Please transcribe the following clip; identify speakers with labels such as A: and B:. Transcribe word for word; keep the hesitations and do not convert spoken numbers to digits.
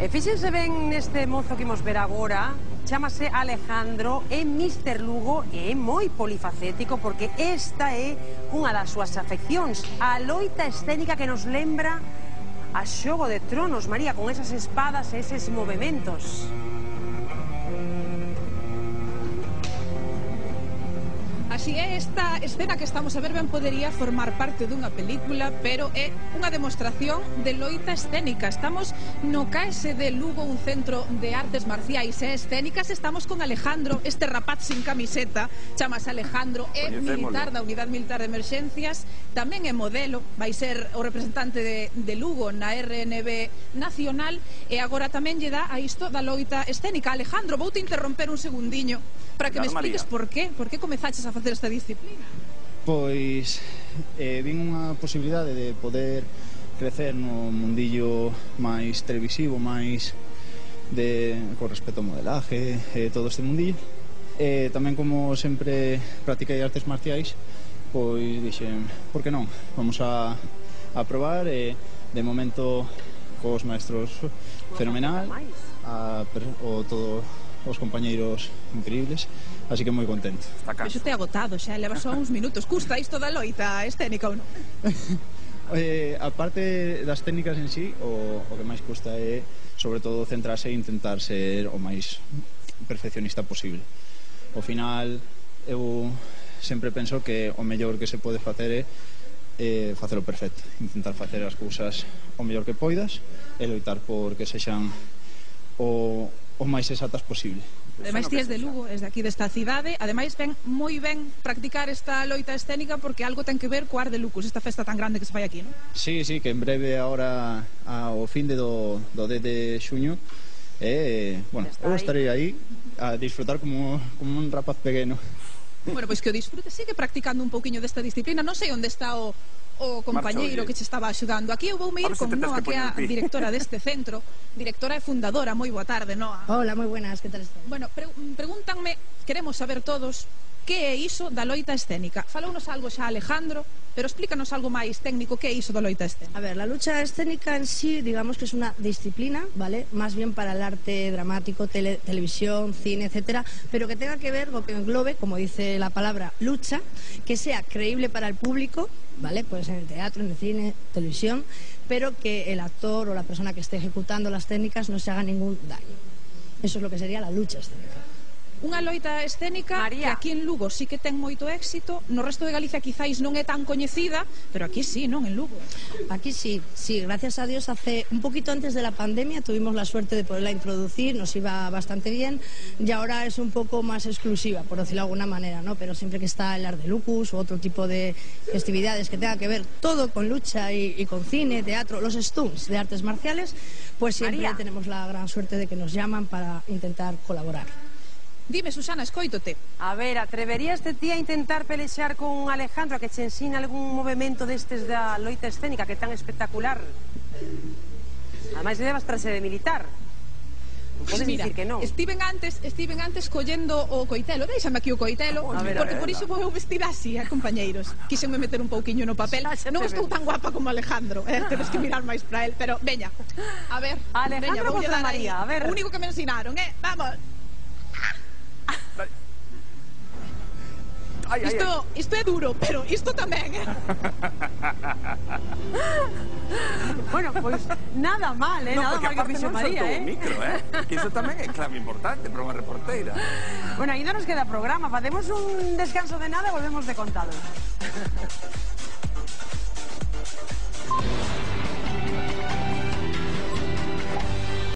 A: E fíxense ben neste mozo que imos ver agora, chámase Alejandro, é míster Lugo e é moi polifacético porque esta é unha das súas afeccións, a loita escénica que nos lembra a Xogo de Tronos, María, con esas espadas e eses movementos.
B: Así é, esta escena que estamos a ver ben podería formar parte dunha película, pero é unha demostración de loita escénica. Estamos no C A E S de Lugo, un centro de artes marciais e escénicas. Estamos con Alejandro, este rapaz sin camiseta, chamase Alejandro, é militar da Unidade Militar de Emerxencias, tamén é modelo, vai ser o representante de, de Lugo na R N B Nacional, e agora tamén lle dá a isto da loita escénica. Alejandro, vou te interromper un segundiño para que me expliques por qué, por qué comezaches a facer esta disciplina.
C: Pois eh, vin unha posibilidade de poder crecer no mundillo máis televisivo, máis de, con respecto ao modelaje e eh, todo este mundillo. E eh, tamén, como sempre practiquei artes marciais, pois dixen, por que non? Vamos a, a probar e de momento cos maestros fenomenal, a, o todo os compañeiros increíbles, así que moi contento.
B: Pero te agotado, xa leva só uns minutos. Custa isto da loita escénica ou non?
C: eh, a parte das técnicas en sí, o, o que máis custa é sobre todo centrarse e intentar ser o máis perfeccionista posible. Ao final eu sempre penso que o mellor que se pode facer é eh, facelo perfecto, intentar facer as cousas o mellor que poidas e loitar por que sexan o o máis exactas posible.
B: Ademais, ti és de Lugo, és de aquí desta cidade. Ademais, ven moi ben practicar esta loita escénica porque algo ten que ver co Ar de Lucus, esta festa tan grande que se fai aquí, non?
C: Sí, sí, que en breve agora ao fin de do, do dez de xuño e, eh, bueno, eu estarei aí a disfrutar como, como un rapaz pequeno.
B: Bueno, pois que o disfrute, sigue practicando un pouquiño desta disciplina. Non sei onde está o o compañeiro que che estaba axudando. Aquí eu voume ir con Noa, que é a directora deste centro, directora e fundadora. Moi boa tarde, Noa.
D: Hola, moi buenas, que tal estás?
B: Bueno, pre pregúntanme, queremos saber todos, que é iso da loita escénica? Falounos algo xa Alejandro, pero explícanos algo máis técnico, que é iso da loita escénica?
D: A ver, la lucha escénica en sí, digamos que es una disciplina, ¿vale? Más bien para el arte dramático, tele, televisión, cine, etcétera, pero que tenga que ver con que englobe, como dice la palabra, lucha, que sea creíble para el público, ¿vale? Pues en el teatro, en el cine, televisión, pero que el actor o la persona que esté ejecutando las técnicas no se haga ningún daño. Eso es lo que sería la lucha escénica.
B: Unha loita escénica María, que aquí en Lugo sí que ten moito éxito, no resto de Galicia quizáis non é tan coñecida, pero aquí sí, non, en Lugo.
D: Aquí sí, sí, gracias a Dios, hace un poquito antes de la pandemia tuvimos la suerte de poderla introducir, nos iba bastante bien, y ahora es un poco más exclusiva, por decirlo de alguna manera, ¿no? Pero siempre que está el Ar de Lucus u otro tipo de festividades que tenga que ver todo con lucha y, y con cine, teatro, los stunts de artes marciales, pues siempre María, tenemos la gran suerte de que nos llaman para intentar colaborar.
B: Dime, Susana, escoítote.
A: A ver, atreverías de ti a intentar pelexar con Alejandro, a que che ensine algún movimento destes da loita escénica que é tan espectacular? Ademais, levas trase de militar. Non podes
B: Mira,
A: dicir que non.
B: Estiven antes, estiven antes collendo o coitelo. Déixame aquí o coitelo, a ver, porque a ver, por iso vou vestir así, eh, compañeiros. Quixenme meter un pouquiño no papel. Non estou tan guapa como Alejandro, eh, tedes que mirar máis para él, pero veña. A ver,
A: Alejandro contra María, a ver.
B: O único que me ensinaron, eh, vamos. Ay, ay, isto, ay. isto é duro, pero isto tamén, eh?
A: Bueno, pois pues, nada mal, eh?
E: No,
A: nada mal que fixo María, eh?
E: Un micro, eh? Que iso tamén é clave importante para unha reporteira.
A: Bueno, ainda nos queda programa, facemos un descanso de nada e volvemos de contado.